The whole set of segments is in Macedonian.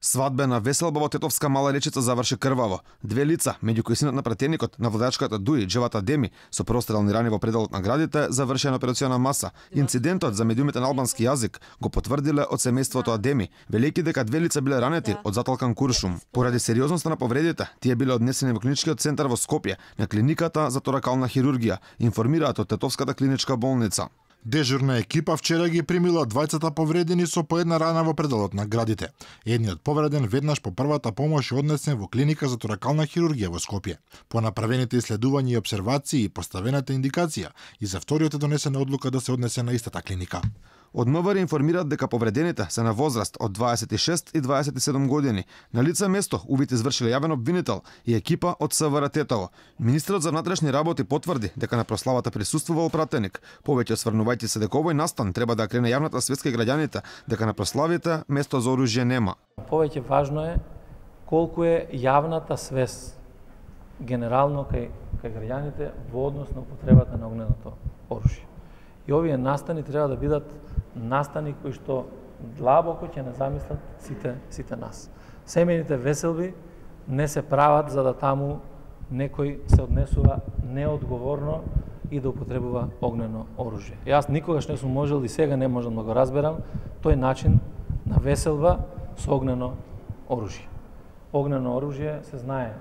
Свадбена веселба во Тетовска Мала Речица заврши крваво. Две лица, меѓу кои синот на пратеникот на владачката Дуи, Джевата Деми, со прострелни рани во пределот на градите, заврши на операциона маса. Инцидентот за медиумите на албански јазик го потврдиле од семејството Адеми, велејќи дека две лица биле ранети од заталкан куршум. Поради сериозноста на повредите, тие биле однесени во клиничкиот центар во Скопје, на клиниката за торакална хирургија, информираат од Тетовската клиничка болница. Дежурна екипа вчера ги примила двајцата повредени со по една рана во пределот на градите. Едниот повреден веднаш по првата помош е однесен во клиника за торакална хирургија во Скопје. По направените иследувања и обсервации и поставената индикација, и за вториот е донесена одлука да се однесе на истата клиника. Од МВР информираат дека повредените се на возраст од 26 и 27 години. На лице место увид извршиле јавен обвинител и екипа од СВР Тетово. Министерот за внатрешни работи потврди дека на прославата присуствувал пратеник. Повеќе осврнувајќи се дека овој настан треба да крене јавната светска и граѓаните дека на прославите место за оружје нема. Повеќе важно е колку е јавната свест генерално кај граѓаните во однос на употребата на огненото оружје. И овие настани треба да бидат настани кои што длабоко ќе не замислат сите нас. Семејните веселби не се прават за да таму некој се однесува неодговорно и да употребува огнено оружје. Јас никогаш не сум можел и сега не можам да го разберам тој начин на веселба со огнено оружје. Огнено оружје се знае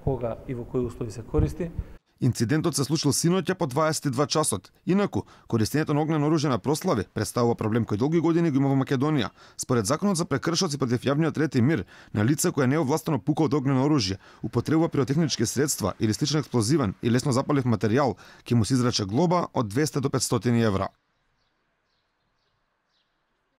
кога и во кои услови се користи. Инцидентот се случил синоќа по 22 часот. Инаку, користењето на огнено оружје на прослави представува проблем кој долги години го има во Македонија. Според законот за прекршоци против јавниот ред и мир, на лице кое неовластено пука од огнено оружје, употребува пиротехнички средства или сличен експлозивен и лесно запалив материјал, ќе му се изрече глоба од 200 до 500 евра.